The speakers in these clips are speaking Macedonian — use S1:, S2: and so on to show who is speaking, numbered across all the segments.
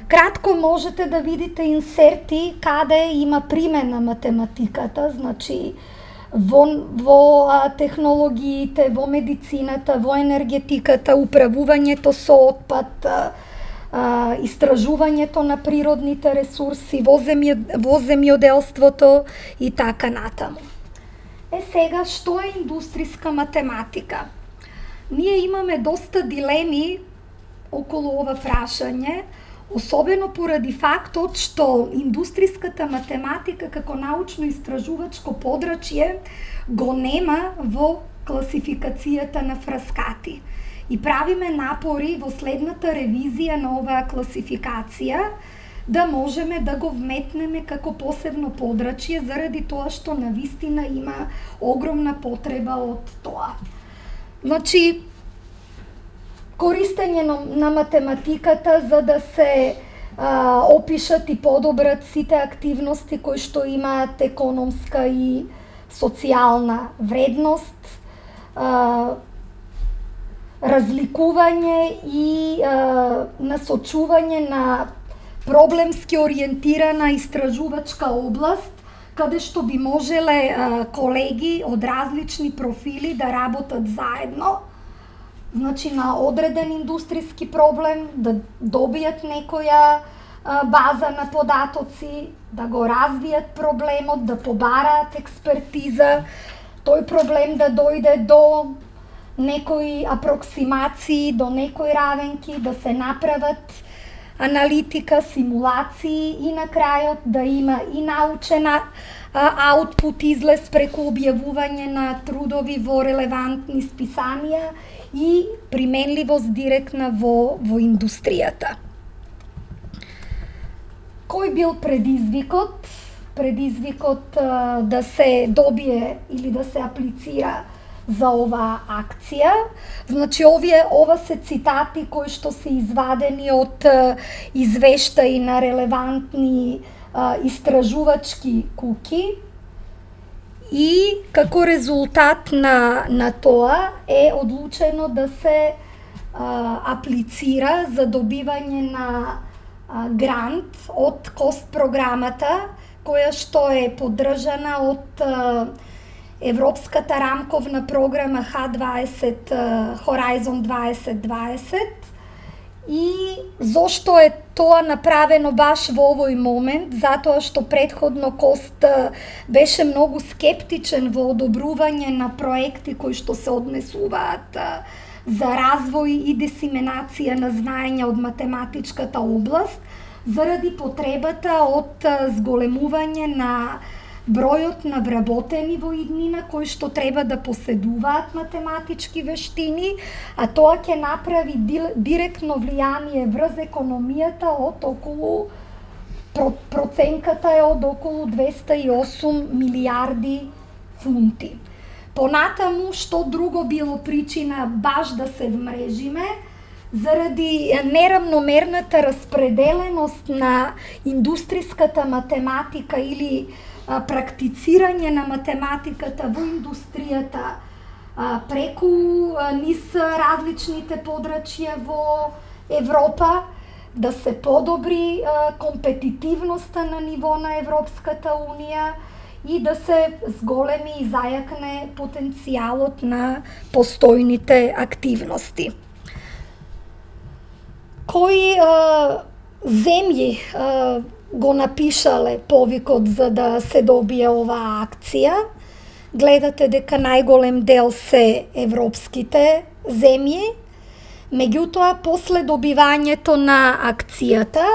S1: Кратко можете да видите инсерти каде има примена математиката, значи во технологиите, во медицината, во енергетиката, управувањето со отпад, истражувањето на природните ресурси, во земјоделството и така натаму. Сега, што е индустријска математика? Ние имаме доста дилеми околу ова прашање, особено поради фактот што индустријската математика како научно-истражувачко подрачје го нема во класификацијата на Фраскати. И правиме напори во следната ревизија на оваа класификација да можеме да го вметнеме како посебно подрачје заради тоа што навистина има огромна потреба од тоа. Значи, користење на математиката за да се опишат и подобрат сите активности кои што имаат економска и социјална вредност, разликување и насочување на проблемски ориентирана истражувачка област, каде што би можеле колеги од различни профили да работат заедно, значи на одреден индустријски проблем, да добијат некоја база на податоци, да го развијат проблемот, да побараат експертиза, тој проблем да дојде до некои апроксимации, до некои равенки, да се направат аналитика, симулации и на крајот да има и научен аутпут излез преку објавување на трудови во релевантни списанија и применливост директна во индустријата. Кој бил предизвикот? Предизвикот да се добие или да се аплицира за оваа акција. Значи, ова се цитати кои што се извадени од извештаи на релевантни истражувачки куки и како резултат на тоа е одлучено да се аплицира за добивање на грант од КОСТ програмата, која што е поддржана од Европската рамковна програма H20 Horizon 2020. И зошто е тоа направено баш во овој момент? Затоа што предходно КОСТ беше многу скептичен во одобрување на проекти кои што се однесуваат за развој и дисеминација на знаења од математичката област, заради потребата од зголемување на бројот на вработени во иднина кои што треба да поседуваат математички вештини, а тоа ќе направи директно влијание врз економијата од околу, проценката е од околу 208 милиарди фунти. Понатаму, што друго било причина баш да се вмрежиме, заради неравномерната распределеност на индустријската математика или практицирање на математиката во индустријата преку низ различните подрачја во Европа, да се подобри компетитивноста на ниво на Европската Унија и да се зголеми и зајакне потенцијалот на постојните активности. Кои земји го напишале повикот за да се добие оваа акција? Гледате дека најголем дел се европските земји, меѓутоа после добивањето на акцијата,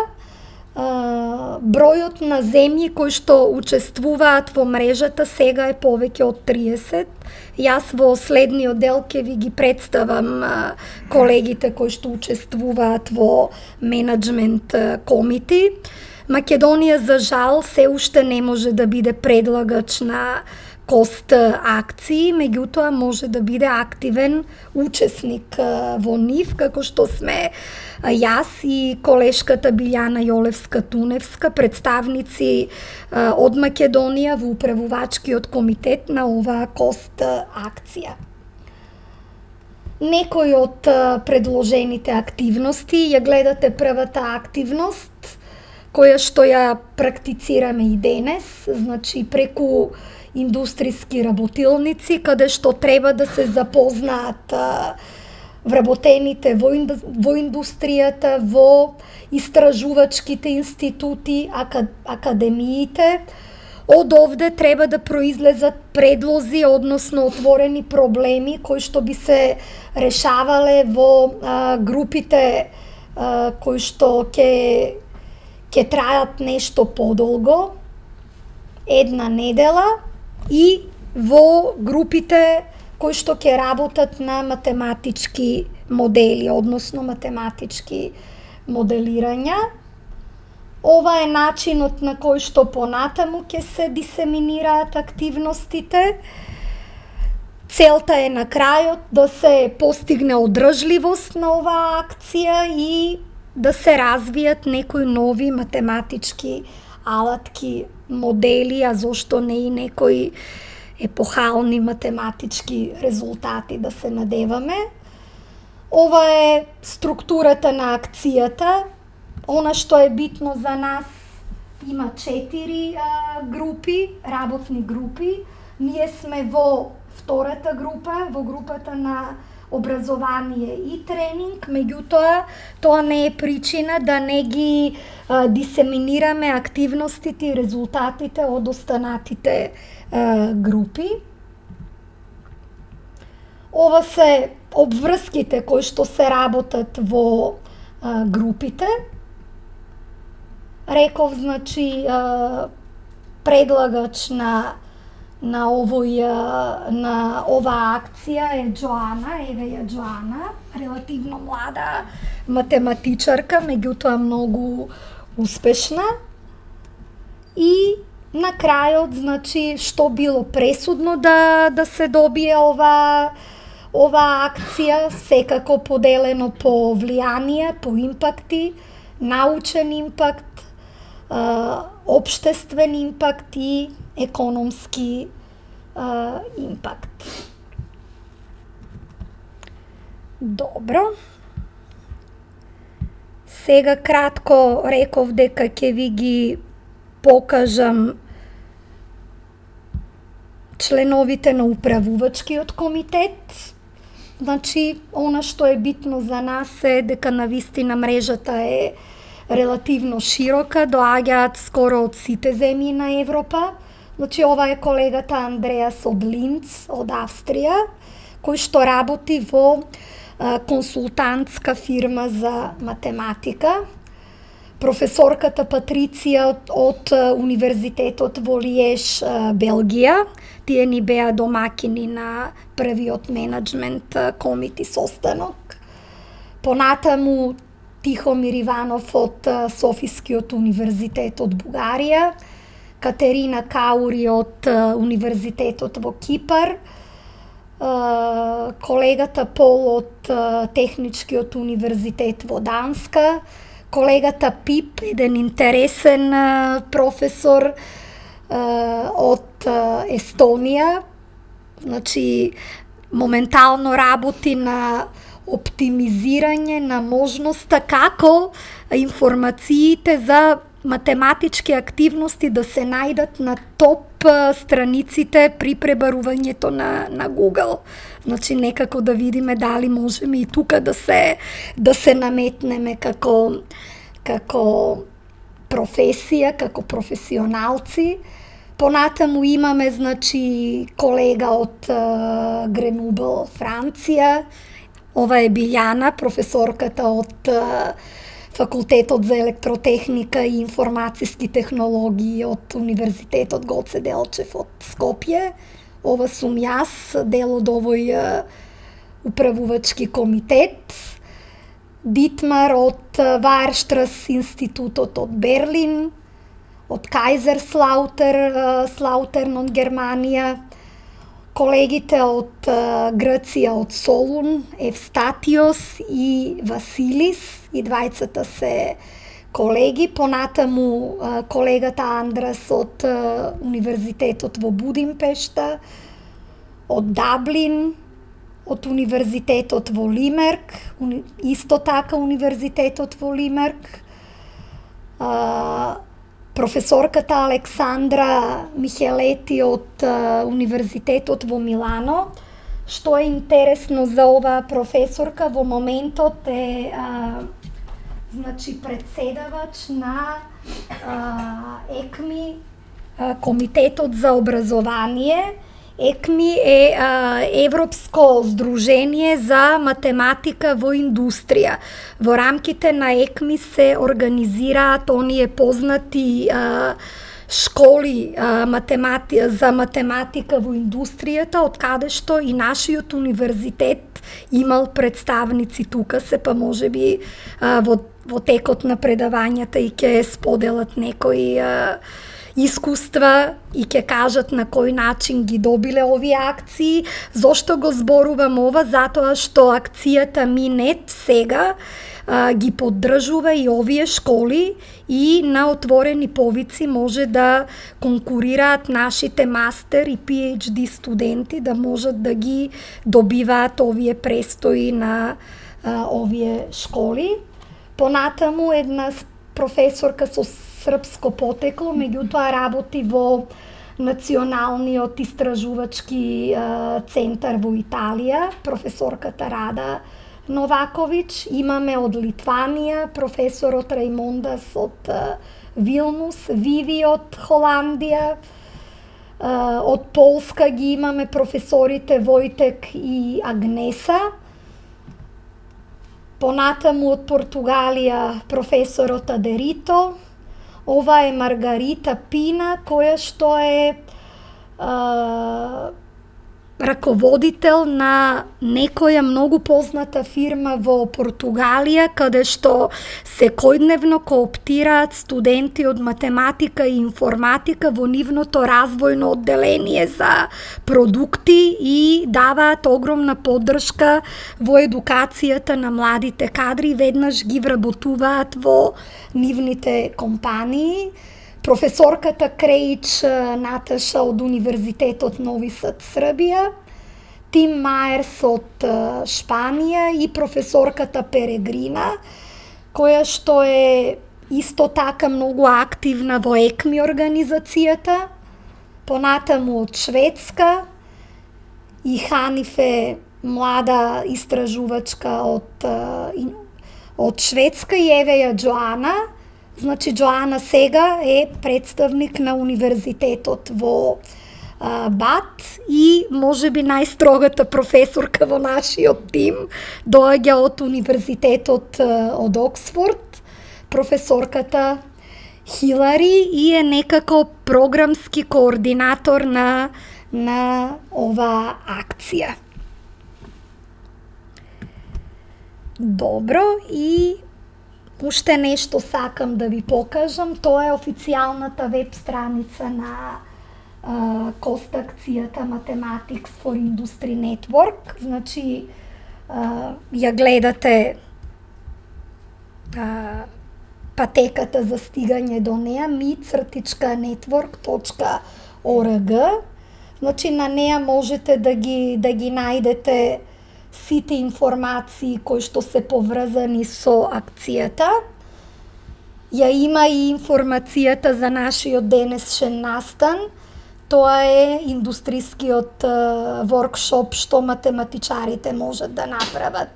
S1: бројот на земји кои што учествуваат во мрежата сега е повеќе од 30. Јас во следниот дел ќе ви ги представам колегите кои што учествуваат во менеджмент комити. Македонија, за жал, се уште не може да биде предлагач на КОСТ акции, меѓутоа може да биде активен учесник во нив, како што сме јас и колешката Билјана Јолевска-Туневска, представници од Македонија во управувачкиот комитет на оваа КОСТ акција. некои од предложените активности. Ја гледате првата активност, која што ја практицираме и денес, значи преку индустријски работилници, каде што треба да се запознаат вработените во индустријата, во истражувачките институти, академиите. Од овде треба да произлезат предлози, односно отворени проблеми кои што би се решавале во групите кои што ќе трајат нешто подолго, една недела, и во групите кои што ќе работат на математички модели, односно математички моделирања. Ова е начинот на кој што понатаму ќе се дисеминираат активностите. Целта е на крајот да се постигне одржливост на оваа акција и да се развијат некои нови математички алатки, модели, а зошто не и некои епохални математички резултати да се надеваме. Ова е структурата на акцијата. Она што е битно за нас, има 4 групи, работни групи. Ние сме во втората група, во групата на образование и тренинг, меѓутоа тоа не е причина да не ги дисеминираме активностите и резултатите од останатите групи. Ова се обврските кои што се работат во групите. Реков, значи, предлагач на оваа акција е Джоана, еве ја Джоана, релативно млада математичарка, меѓутоа многу успешна. И на крајот, значи, што било пресудно да се добие оваа акција, секако поделено по влијание, по импакти, научен импакт, општествен импакт и економски импакт. Добро. Сега кратко реков дека ќе ви ги покажам членовите на управувачкиот комитет. Значи, она што е битно за нас е дека навистина мрежата е релативно широка, доаѓаат скоро од сите земји на Европа. Значи, ова е колегата Андреас од Линц, од Австрија, кој што работи во консултантска фирма за математика. Професорката Патриција од Универзитетот во Лиеш, Белгија. Тие ни беа домакини на првиот менеджмент комити состанок. Понатаму Тихомир Иванов од Софискиот универзитет од Бугарија, Катерина Каури од Универзитетот во Кипар, колегата Пол од Техничкиот универзитет во Данска, колегата Пип, еден интересен професор од Естонија, значи моментално работи на оптимизирање на можноста како информациите за математички активности да се најдат на топ страниците при пребарувањето на Google. Значи некако да видиме дали можеме и тука да се наметнеме како професија, како професионалци. Понатаму имаме, значи, колега од Гренубл, Франција. Ова е Билјана, професорката од Факултетот за електротехника и информациски технологии од Универзитетот Гоце Делчев од Скопје. Ова сум јас, дел од овој управувачки комитет. Дитмар од Ваерштрас институтот од Берлин, од Кајзерслаутерн од Германија, колегите од Грција од Солун, Евстатиос и Василис, и двајцата се колеги. Понатаму колегата Андрас од Универзитетот во Будимпешта, од Даблин, од Универзитетот во Лимерк, исто така Универзитетот во Лимерк, професорката Александра Михелети од Универзитетот во Милано. Што е интересно за оваа професорка, во моментот е председавач на ЕКМИ, Комитетот за образование. ЕКМИ е Европско здружение за математика во индустрија. Во рамките на ЕКМИ се организираат оние познати школи за математика во индустријата, од каде што и нашиот универзитет имал представници тука, се па можеби во текот на предавањата и ќе споделат некои искуства и ќе кажат на кој начин ги добиле овие акции. Зошто го зборувам ова? Затоа што акцијата Минет сега ги поддржува и овие школи и на отворени повици може да конкурираат нашите мастер и PhD студенти да можат да ги добиваат овие престои на овие школи. Понатаму една професорка со српско потекло, меѓутоа работи во Националниот истражувачки центар во Италија, професорката Рада Новакович. Имаме од Литванија професорот Раймондас од Вилнус, Виви од Холандија, од Полска ги имаме професорите Војтек и Агнеса. Понатаму од Португалија професорот Адерито. Ова е Маргарита Пина, која што е раководител на некоја многу позната фирма во Португалија, каде што секојдневно кооптираат студенти од математика и информатика во нивното развојно одделение за продукти и даваат огромна поддршка во едукацијата на младите кадри, веднаш ги вработуваат во нивните компании. Професорката Креич Наташа од Универзитетот Нови Сад, Србија, Тим Маерс од Шпанија и професорката Перегрина, која што е исто така многу активна во ЕКМИ организацијата. Понатаму од Шведска и Ханифе, млада истражувачка од Шведска, и Евеја Джоана. Джоана сега е представник на универзитетот во БАТ и можеби најстрогата професорка во нашиот тим доаѓа од универзитетот од Оксфорд, професорката Хилари, и е некако програмски координатор на оваа акција. Добро, и уште нешто сакам да ви покажам. Тоа е официјалната веб страница на кост акцијата Mathematics for Industry Network. Ја гледате патеката за стигање до неа, mi-network.org. На неа можете да ги најдете сите информации кои што се поврзани со акцијата. Ја има и информацијата за нашиот денешен настан. Тоа е индустрискиот воркшоп што математичарите можат да направат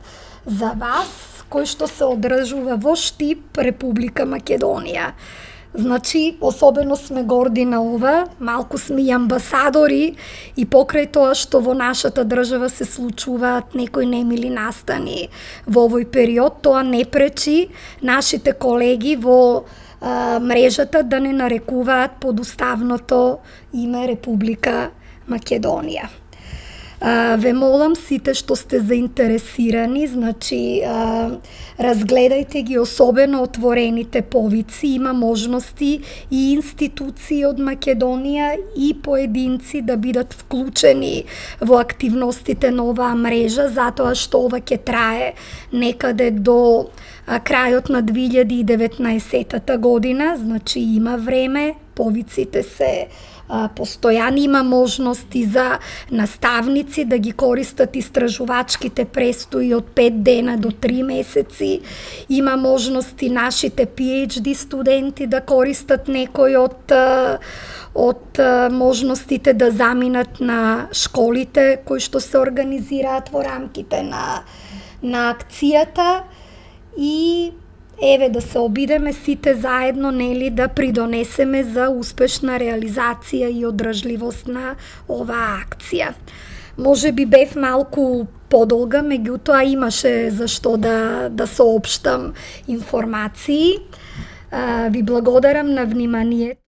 S1: за вас, кој што се одржува во Штип, Република Македонија. Особено сме горди на ова, малку сме и амбасадори, и покрај тоа што во нашата држава се случуваат некои немили настани во овој период, тоа не пречи нашите колеги во мрежата да не нарекуваат под уставното име Република Македонија. Ве молам сите што сте заинтересирани, разгледајте ги особено отворените повици, има можности и институции од Македонија и поединци да бидат вклучени во активностите на оваа мрежа, затоа што ова ќе трае некаде до крајот на 2019 година, има време, повиците се постојано. Има можности за наставници да ги користат истражувачките престои од 5 дена до 3 месеци. Има можности нашите PhD студенти да користат некои од можностите да заминат на школите кои што се организираат во рамките на акцијата и еве да се обидеме сите заедно, нели, да придонесеме за успешна реализација и одржливост на оваа акција. Може би бев малку подолга, меѓутоа имаше зашто да соопштам информации. Ви благодарам на вниманието.